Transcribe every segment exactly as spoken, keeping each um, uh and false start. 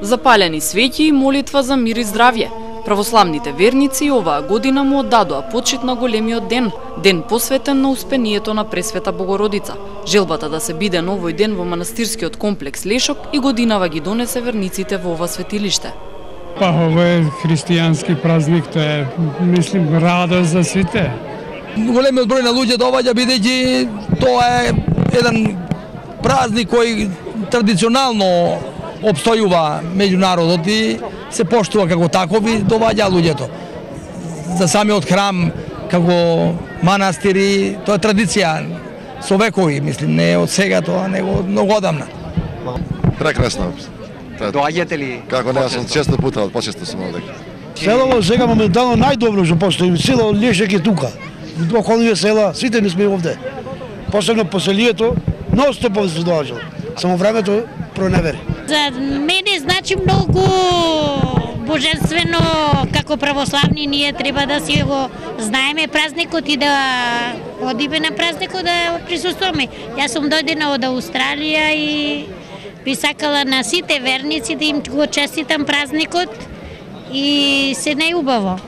Запалени свеќи и молитва за мир и здравје. Православните верници оваа година му оддадоа почит на големиот ден, ден посветен на успението на Пресвета Богородица. Желбата да се биде овој ден во манастирскиот комплекс Лешок и годинава ги донесе верниците во ова светилиште. Па ова е христијански празник, тоа е, мислим, радост за сите. Големиот број на луѓе доаѓа бидејќи тоа е еден празник кој традиционално обстојува меѓу народот и се поштува како таков и доваѓа луѓето. За самиот храм, како манастири, тоа е традиција со векови, мислим, не од сега тоа, него од многу одамна. Прекрасно. Доаѓате ли? Како не, сум често пута, почесто сум овде. Селото сега моментално најдобро што постои, село Лешек е тука. Околните села, сите не сме овде. Посебно поселието, ностоп се доаѓа. Само времето проневери. За мене значи многу божествено, како православни ние треба да си го знаеме празникот и да одиме на празникот да присуствуваме. Јас сум дојдена од Австралија и би сакала на сите верници да им го честитам празникот и се најубаво.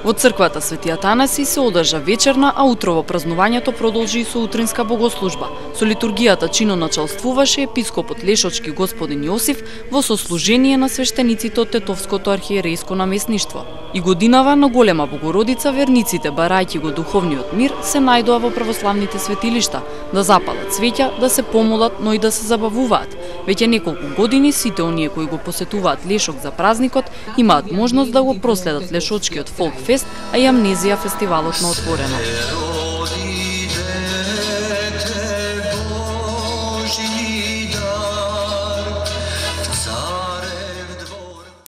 Во црквата Свети Атанаси се одржа вечерна, а утрово празнувањето продолжи и со утринска богослужба. Со литургијата чиноначалствуваше епископот Лешочки господин Јосиф во сослужение на свештениците од Тетовското архиерејско наместништво. И годинава на Голема Богородица верниците, барајќи го духовниот мир, се најдоа во православните светилишта, да запалат свеќа, да се помолат, но и да се забавуваат. Веќе неколку години сите оние кои го посетуваат Лешок за празникот имаат можност да го проследат Лешочкиот фолк фест, а и Амнезија фестивалот на отворено.